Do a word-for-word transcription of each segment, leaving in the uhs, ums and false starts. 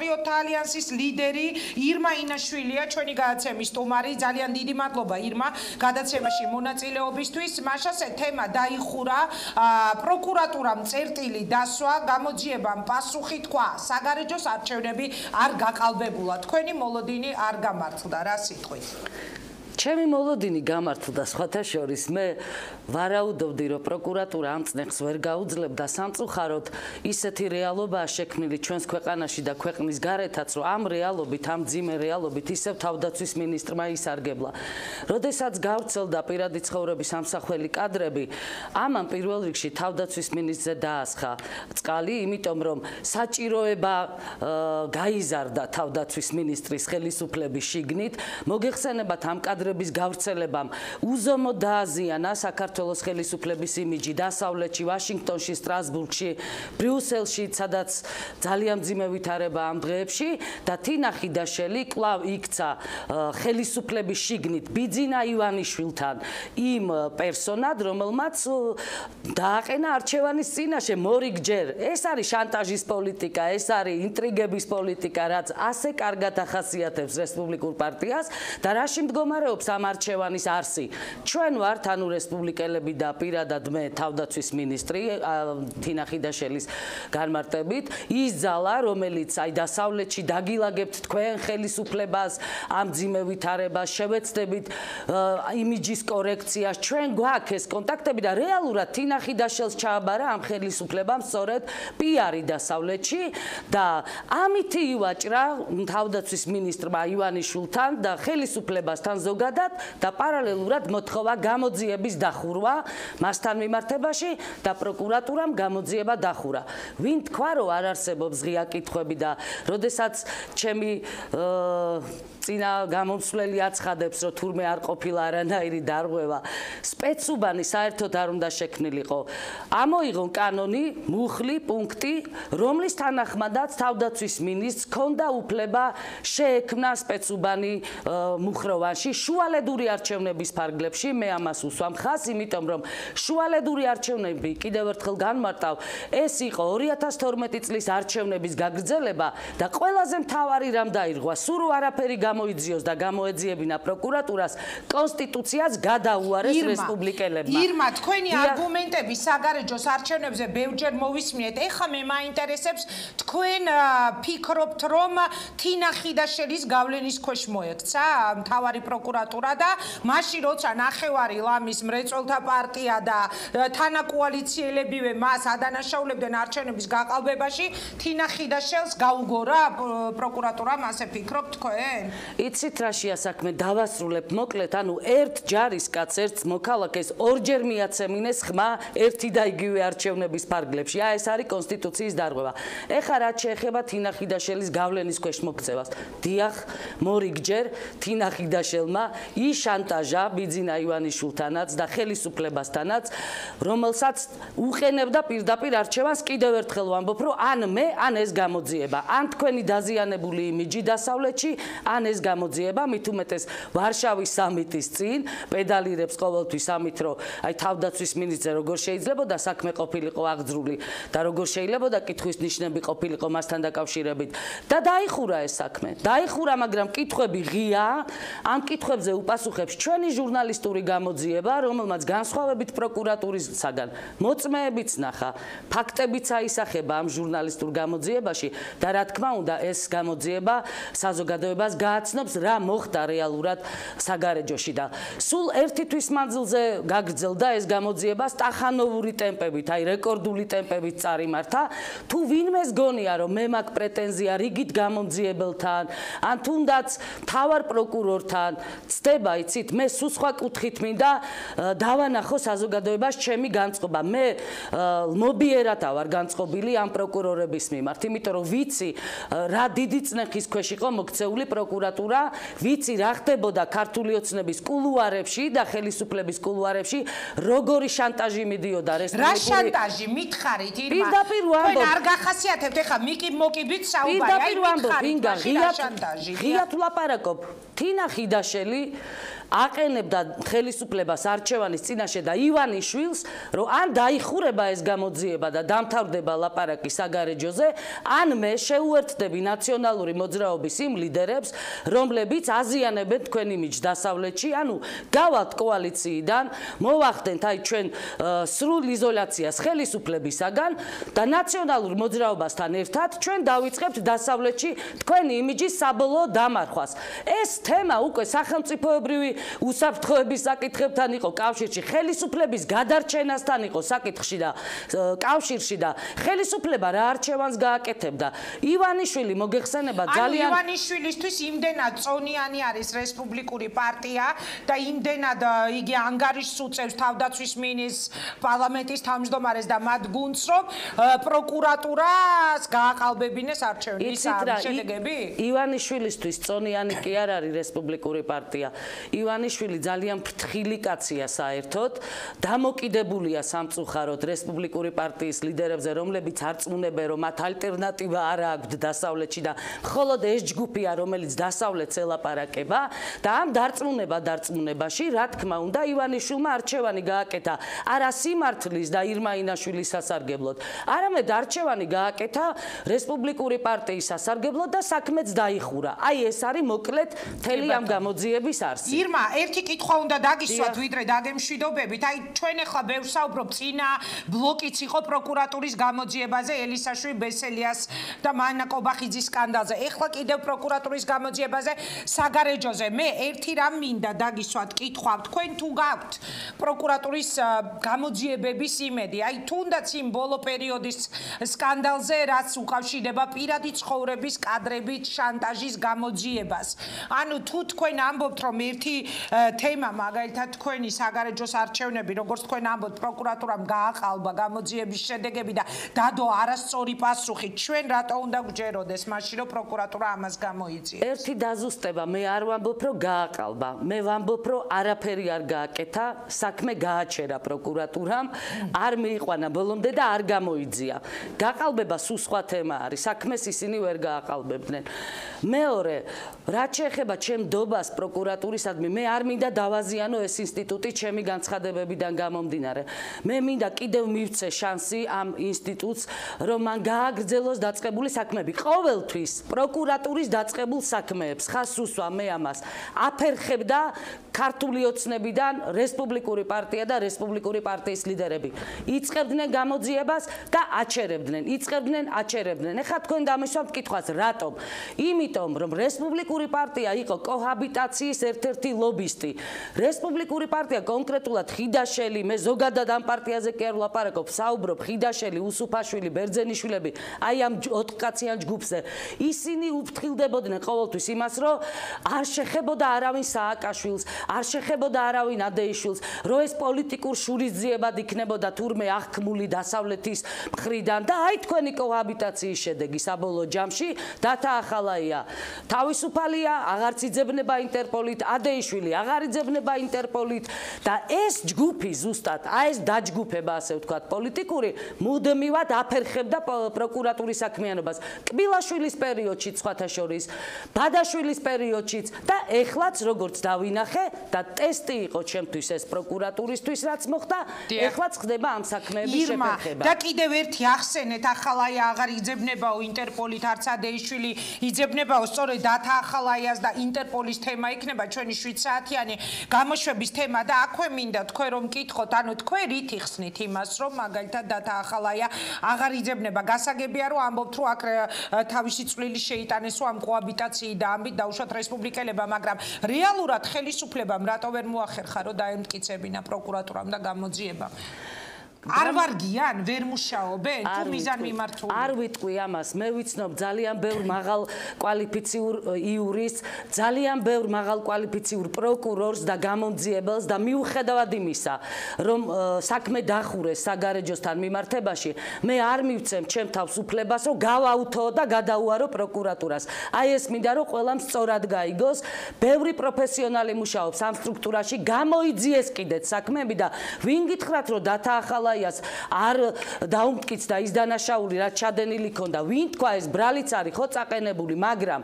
პატრიოტთა ალიანსის ლიდერი ირმა ინაშვილია, ჩვენი გადაცემის სტუმარი. ძალიან დიდი მადლობა ირმა გადაცემაში მონაწილეობისთვის. მაშას თემა დაიხურა, პროკურატურამ წერტილი დასვა, გამოძიებამ პასუხი თქვა, საგარეჯოს არჩევნები არ გაყალბებულა. თქვენი მოლოდინი არ გამართლდა, რა სიტყვით? ჩემი მოლოდინი გამართლდა, სხვათა შორის მე ვარაუდობდი, რომ პროკურატურა ამ წნეხს ვერ გაუძლებდა, სამწუხაროდ ისეთი რეალობაა შექმნილი ჩვენს ქვეყანაში და ქვეყნის გარეთაც, რომ ამ რეალობით, ამ ძიმე რეალობით ისევ თავდაცვის მინისტრმა ისარგებლა. როდესაც გავრცელდა პირადი ცხოვრების ამსახველი კადრები, ამან პირველ რიგში თავდაცვის მინისტრზე დაასხა წყალი, იმიტომ რომ საჭიროება გაიზარდა თავდაცვის მინისტრის ხელისუფლების შიგნით, მოგეხსენებათ ამ კადრების გავრცელებამ უზომოდ დააზიანა საქართველოს ხელისუფლების იმიჯი დასავლეთში, ვაშინგტონში, სტრასბურგში, ბრიუსელში, სადაც ძალიან მძიმე ვითარება ამ დღეებში და თინა ხიდაშელი კვლავ იქცა ხელისუფლების შიგნით ბიძინა ივანიშვილთან იმ პერსონად, რომელმაც დააყენა არჩევანის წინაშე მორიგჯერ. ეს არის შანტაჟის პოლიტიკა, ეს არის ინტრიგების პოლიტიკა, რაც ასე კარგად ახასიათებს რესპუბლიკურ პარტიას და რაში მდგომარეობს ამ არჩევანის არსი. ჩვენ ვართ, ანუ რესპუბლიკელები და პირადად მე თავდაცვის მინისტრი თინა ხიდაშელის განმარტებით, ის ძალა, რომელიც აი დასავლეთში დაგილაგებთ თქვენ ხელისუფლებას, ამ ძიმე ვითარებას, შევეცდებით იმიჯის კორექციას, ჩვენ გვაქვს ეს კონტაქტები და რეალურად თინა ხიდაშელს ჩააბარა ამ ხელისუფლებამ სწორედ პიარი დასავლეთში და ამითი ივაჭრა თავდაცვის მინისტრმა ივანიშვილთან და ხელისუფლებასთან ზოგადად და პარალელურად მოთხოვა გამოძიების დახურვა მასთან მიმართებაში და პროკურატურამ გამოძიება დახურა. ვინ თქვა, რომ არ არსებობს ღია კითხვები და როდესაც ჩემი წინა გამომსვლელი აცხადებს, რომ თურმე არ ყოფილა არანაირი დარღვევა, სპეცუბანი საერთოდ არ უნდა შექმნილიყო. ამოიღონ კანონი, მუხლი, პუნქტი, რომლის თანახმადაც თავდაცვის მინისტრს ჰქონდა უფლება შეექმნა სპეცუბანი მუხროვანში შუალედური არჩევნების ფარგლებში. მე ამას უსვამ ხაზს, იმიტომ რომ შუალედური არჩევნები, კიდევ ერთხელ განმარტავ, ეს იყო ორი ათას თორმეტი წლის არჩევნების გაგრძელება და ყველაზე მთავარი რამ დაირღვა, სულ არაფერი გამოიძიოს და გამოეძიებინა პროკურატურას, კონსტიტუციას გადაუარეს რესპუბლიკელებმა. ირმა, თქვენი არგუმენტები საგარეჯოს არჩევნებზე ბევრჯერ მოვისმინეთ. ეხლა მე მაინტერესებს, თქვენ ფიქრობთ, რომ თინა ხიდაშელის გავლენის ქვეშ მოექცა მთავარი პროკურატურა და მაშინ როცა ნახევარი ლამის მრეწველთა პარტია და თანაკოალიციელებივე მას ადანაშაულებდნენ არჩევნების გაყალბებაში, თინა ხიდაშელს გაუგორა პროკურატურამ, ასე ფიქრობთ თქვენ? იცით რაშია საქმე, დავასრულებ მოკლედ, ანუ ერთ ჯარისკაცს, ერთ მოქალაქეს ორჯერ მიაცემინეს ხმა ერთი და იგივე არჩევნების ფარგლებში. აი ეს არის კონსტიტუციის დარღვევა. ეხლა რაც შეეხება თინა ხიდაშელის გავლენის ქვეშ მოქცევას. დიახ, მორიგჯერ თინა ხიდაშელმა იშანტაჟა ბიძინა ივანიშვილთანაც და ხელისუფლებასთანაც, რომელსაც უყენებდა პირდაპირ არჩევანს. კიდევ ერთხელ ვამბობ, რომ ან მე, ან ეს გამოძიება, ან თქვენი დაზიანებული იმიჯი დასავლეთში, ან ეს გამოძიება, მით უმეტეს ვარშავის სამიტის წინ პედალირებს ყოველთვის ამით, რომ აი თავდაცვის მინისტრზე როგორ შეიძლებოდა საქმე ყოფილიყო აღძრული და როგორ შეიძლებოდა კითხვის ნიშნები ყოფილიყო მასთან დაკავშირებით და დაიხურა ეს საქმე. დაიხურა, მაგრამ კითხვები ღია, ამ კითხვებზე უპასუხებს ჩვენი ჟურნალისტური გამოძიება, რომელმაც განსხვავებით პროკურატურისაგან მოწმეებიც ნახა, ფაქტებიც აისახება ამ ჟურნალისტურ გამოძიებაში და რა თქმა უნდა ეს გამოძიება საზოგადოებას გააცნობს, რა მოხდა რეალურად საგარეჯოში და სულ ერთი თვის მანძილზე გაგრძელდა ეს გამოძიება სტახანოვური ტემპებით, აი რეკორდული ტემპებით წარიმართა. თუ ვინმეს გონია, რომ მე მაქვს პრეტენზია რიგით გამომძიებელთან, ან თუნდაც მთავარ პროკურორთან, ცდება, იცით, მე სულ სხვა კუთხით მინდა დავანახო საზოგადოებას ჩემი განწყობა. მე მობიერათა ვარ განწყობილი ამ პროკურორების მიმართ, იმიტომ რომ ვიცი რა დიდი წნეხის ქვეშ იყო მოქცეული პროკურატურა, ვიცი რა ხდებოდა ქართული ოცნების კულუარებში და ხელისუფლების კულუარებში, როგორი შანტაჟი მიდიოდა რესპუბლიკური. რა შანტაჟი მითხარით, ირმა? პირდაპირ ვამბობ. თქვენ არ გახასიათებთ, ეხლა მიკი მოკიბით საუბარი, აი მითხარით, ღიად ვლაპარაკობ. თინა ხიდაშელი აყენებდა ხელისუფლებას არჩევანის წინაშე და ივანიშვილს, რომ ან დაიხურება ეს გამოძიება და დამთავრდება ლაპარაკი საგარეჯოზე, ან მე შეუერთდები ნაციონალური მოძრაობის იმ ლიდერებს, რომლებიც აზიანებენ თქვენ იმიჯს დასავლეთში, ანუ გავალთ კოალიციიდან, მოვახდენთ აი ჩვენ სრულ იზოლაციას ხელისუფლებისაგან და ნაციონალურ მოძრაობასთან ერთად ჩვენ დავიწყებთ დასავლეთში თქვენი იმიჯის საბოლოო დამარხვას. ეს თემა უკვე სახელმწიფოებრივი უსაფრთხოების საკითხებთან იყო კავშირში, ხელისუფლების გადარჩენასთან იყო საკითხში და კავშირში და ხელისუფლება რა არჩევანს გააკეთებდა. ივანიშვილი მოგეხსენება ძალიან ანუ ივანიშვილისთვის იმდენად წონიანი არის რესპუბლიკური პარტია და იმდენად იგი ანგარიშს უწევს თავდაცვის მინისტრს, პარლამენტის თავმჯდომარეს და მათ გუნდს, რომ პროკურატურას გააყალბებინეს არჩევნის შედეგები? ივანიშვილისთვის წონიანი კი არ არის რესპუბლიკური პარტია. ივანიშვილი ძალიან ფრთხილი კაცია საერთოდ, დამოკიდებულია სამწუხაროდ რესპუბლიკური პარტიის ლიდერებზე, რომლებიც არწმუნებენ, რომ მათ ალტერნატივა არ აქვთ დასავლეთში და მხოლოდ ეს ჯგუფია, რომელიც დასავლეთს ელაპარაკება და ამ დარწმუნება დარწმუნებაში, რა თქმა უნდა, ივანიშვილმა არჩევანი გააკეთა არა სიმართლის და ირმა ინაშვილის სასარგებლოდ, არამედ არჩევანი გააკეთა რესპუბლიკური პარტიის სასარგებლოდ და საქმეც დაიხურა. აი ეს არის მოკლედ მთელი ამ გამოძიების არსი. ირმა, ერთი კითხვა უნდა დაგისვათ, ვიდრე დაგემშვიდობებით. აი ჩვენ ახლა ბევრ საუბრობ, წინა ბლოკიც იყო პროკურატურის გამოძიებაზე, ელისაშვილი, ბესელიას და მანა კობახიძის სკანდალზე. ეხლა კიდევ პროკურატურის გამოძიებაზე, საგარეჯოზე. მე ერთი რამ მინდა დაგისვათ კითხვა, თქვენ თუ გაქვთ პროკურატურის გამოძიებების იმედი, აი თუნდაც იმ ბოლო პერიოდის სკანდალზე, რაც უკავშირდება პირადი ცხოვრების კადრებით შანტაჟის გამოძიებას. ანუ თუ თქვენ ამბობთ, რომ ერთი თემა, მაგალითად თქვენი საგარეჯოს არჩევნები, როგორც თქვენ ამბობთ, პროკურატურამ გააყალბა გამოძიების შედეგები და დადო არასწორი პასუხი, ჩვენ რატო უნდა გვჯეროდეს მაშინ, რომ პროკურატურა ამას გამოიწვიეს? ერთი დაზუსტება, მე არ ვამბობ, რომ გააყალბა. მე ვამბობ, რომ არაფერი არ გააკეთა, საქმე გააჩერა პროკურატურამ, არ მიიყვანა ბოლომდე და არ გამოიძია. გაყალბება სულ სხვა თემა არის, საქმეს ისინი ვერ გააყალბებდნენ. მეორე, რაც შეეხება ჩემ დობას პროკურატურისადმი, მე არ მინდა დავაზიანო ეს ინსტიტუტი ჩემი განცხადებებიდან გამომდინარე. მე მინდა კიდევ მივცე შანსი ამ ინსტიტუტს, რომ მან გააგრძელოს დაწყებული საქმეები. ყოველთვის პროკურატურის დაწყებულ საქმეებს ხაზს უსვა მე ამას. აფერხებდა ქართული ოცნებიდან რესპუბლიკური პარტია და რესპუბლიკური პარტიის ლიდერები. იწყებდნენ გამოძიებას და აჩერებდნენ, იწყებდნენ, აჩერებდნენ. ეხლა თქვენ დამისვამთ კითხვას, რატომ? იმიტომ, რომ რესპუბლიკური პარტია იყო კოჰაბიტაციის ერთ-ერთი ლობისტი. რესპუბლიკური პარტია კონკრეტულად ხიდაშელი, მე ზოგადად ამ პარტიაზე კი არ ვლაპარაკობ, საუბრობ ხიდაშელი, უსუფაშვილი, ბერძენიშვილები, აი ამ ოთხკაციან ჯგუფზე. ისინი უფრთხილდებოდნენ ყოველთვის იმას, რომ არ შეხებოდა არავინ სააკაშვილს, არ შეხებოდა არავინ ადეიშვილს, რომ ეს პოლიტიკურ შურისძიებად იქნებოდა თურმე აღქმული დასავლეთის მხრიდან და აი თქვენი კოჰაბიტაციის შედეგი საბოლოო ჯამში დათა ახალაია თავისუფალია, აღარც იძებნება ინტერპოლით, ადეიშვილი აღარ იძებნება ინტერპოლით და ეს ჯგუფი ზუსტად, აი ეს დაჯგუფება, ასე ვთქვათ, პოლიტიკური, მუდმივად აფერხებდა პროკურატურის საქმიანობას. კბილაშვილის პერიოდში, სხვათა შორის, ბადაშვილის პერიოდშიც და ეხლაც როგორც დავინახე და ტესტი იყო ჩემთვის ეს პროკურატურისთვის, რაც მოხდა, ეხლაც ხდება ამ საქმეების შეფერხება. და კიდევ ერთი ახსენეთ, ახალაია აღარ იძებნებაო ინტერპოლით, არც ადეიშვილი იძებნებაო, სწორედ დათა ახალაიას და ინტერპოლის თემა იქნება ჩვენი შვიდ საათიანი გამოშვების თემა და აქვე მინდა თქვენ რომ მკითხოთ, ანუ თქვენ რით იხსნით იმას, რომ მაგალითად დათა ახალაია აღარ იძებნება. გასაგებია, რომ ამბობთ, რომ აქ თავისი წვლილი შეიტანეს, რომ ამ კოაბიტაციი და ამბით დაუშვათ რესპუბლიკელებმა, მაგრამ რეალურად ხელისუფლებამ რატო ვერ მოახერხა, რომ დაემტკიცებინა პროკურატურამ და გამოძიებამ? არ ვარგიან, ვერ მუშაობენ, თუ მიზან მიმართული? არ ვიტყვი ამას, მე ვიცნობ ძალიან ბევრ მაღალ კვალიფიციურ იურისტს, ძალიან ბევრ მაღალ კვალიფიციურ პროკურორს და გამომძიებელს და მიუხედავად იმისა, რომ საქმე დახურეს საგარეჯოსთან მიმართებაში, მე არ მივცემ ჩემ თავს უფლებას, რომ გავაუთო და გადაუარო პროკურატურას. აი ეს მინდა, რომ ყველამ სწორად გაიგოს, ბევრი პროფესიონალი მუშაობს ამ სტრუქტურაში, გამოიძიეს კიდეც საქმეები და ვინ გითხრათ, რომ დათა ახალაია ახალაიას არ დაუმტკიცდა ის დანაშაული, რაც ჩადენილი ქონდა. ვინ თქვა ეს ბრალიც არის ხო წაყენებული, მაგრამ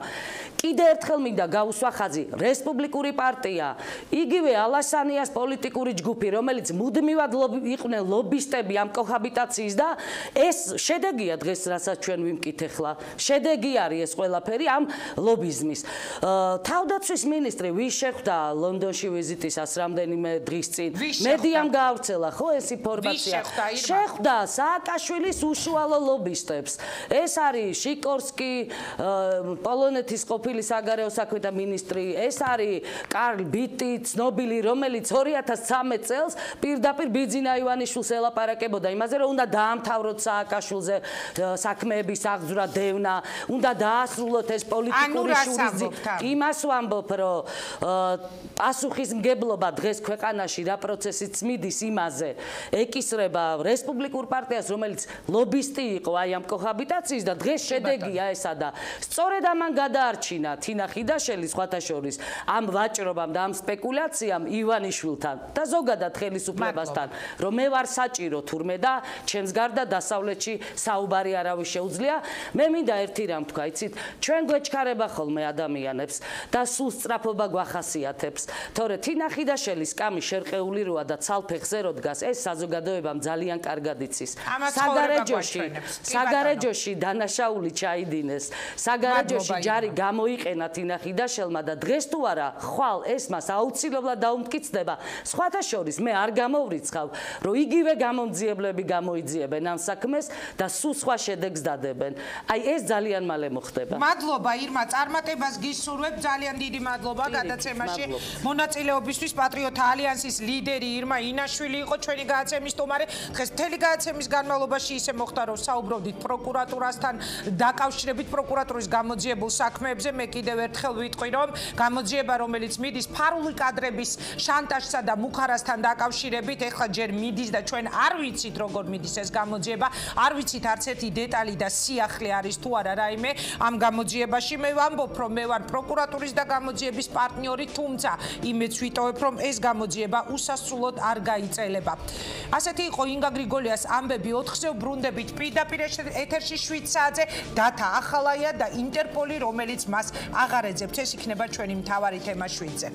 კიდე ერთხელ მინდა გავუსვა ხაზი, რესპუბლიკური პარტია, იგივე ალასანიას პოლიტიკური ჯგუფი, რომელიც მუდმივად იყვნენ ლობისტები ამ კოჰაბიტაციის და ეს შედეგია დღეს, რასაც ჩვენ ვიმკითხა. შედეგი არის ეს ყველაფერი ამ ლობიზმის. თავდაცვის მინისტრი ვის შეხვდა ლონდონში ვიზიტისას რამდენიმე დღის წინ? მედიამ გაავრცელა ხო ეს ინფორმაცია? შეხვდა სააკაშვილის უშუალო ლობისტებს. ეს არის შიკორსკი, პოლონეთის ყოფილი საგარეო საქმეთა მინისტრი, ეს არის კარლ ბიტი, ცნობილი, რომელიც ორი ათას ცხრამეტ წელს პირდაპირ ბიძინა ივანიშვილს ელაპარაკებოდა იმაზე, რომ უნდა დაამთავროთ სააკაშვილზე საქმეების აღძვრა დევნა, უნდა დაასრულოთ ეს პოლიტიკური შურიზი. იმას ვამბობ, რომ პასუხისმგებლობა დღეს ქვეყანაში რა პროცესიც მიდის იმაზე, ეკისრება რესპუბლიკურ პარტიას, რომელიც ლობისტი იყო აი ამ კოჰაბიტაციის და დღეს შედეგია ესა და სწორედ ამან გადაარჩინა თინა ხიდაშელი სხვათა შორის ამ ვაჭრობამ და ამ სპეკულაციამ ივანიშვილთან და ზოგადად ხელისუფლებასთან, რომ მე ვარ საჭირო თურმე და ჩემს გარდა დასავლეთში საუბარი არავის შეუძლია. მე მინდა ერთი რამ თქვა, იცით, ჩვენ გვეჩქარება ხოლმე ადამიანებს და სულ სწრაფობა გვახასიათებს, თორე თინა ხიდაშელის კამი შერყეული როა და ცალფეხზე რო დგას, ეს საზოგადოებამ ძალიან კარგად იცის. საგარეჯოში, საგარეჯოში დანაშაული ჩაიდინეს, საგარეჯოში ჯარი გამოიყენა თინა ხიდაშელმა და დღეს თუ არა, ხვალ ეს მას აუცილებლად დაუმტკიცდება. სხვათა შორის მე არ გამოვრიცხავ, რომ იგივე გამომძიებლები გამოიძიებენ ამ საქმეს და სულ სხვა შედეგს დადებენ. აი ეს ძალიან მალე მოხდება. მადლობა ირმა, წარმატებას გისურვებ, ძალიან დიდი მადლობა გადაცემაში. მონაწილეობისთვის პატრიოტთა ალიანსის ლიდერი ირმა ინაშვილი იყო ჩვენი გადაცემის სტუმარი. დღეს მთელი გადაცემის განმავლობაში ისე მოხდა, რომ საუბრობდით პროკურატურასთან დაკავშირებით პროკურატურის გამოძიებულ საქმეებზე. მე კიდევ ერთხელ ვიტყვი, რომ გამოძიება, რომელიც მიდის ფარული კადრების შანტაჟსა და მუხარასთან დაკავშირებით, ეხლა ჯერ მიდის და ჩვენ არ ვიცით როგორ მიდის ეს გამოძიება, არ ვიცით არც ერთი დეტალი და სიახლე არის თუ არა რაიმე ამ გამოძიებაში. მე ვამბობ, რომ მე ვარ პროკურატურის და გამოძიების პარტნიორი, თუმცა იმეც ვიტოვებ, რომ ეს გამოძიება უსასრულოდ არ გაიწელება. ასეთი იყო ინგა გრიგოლიას ამბები ოთხზე ვბრუნდებით პირდაპირ ეთერში შვიდ საათზე დათა ახალაია და ინტერპოლი, რომელიც მას აღარ ეძებთ. ეს იქნება ჩვენი მთავარი თემა შვიდზე.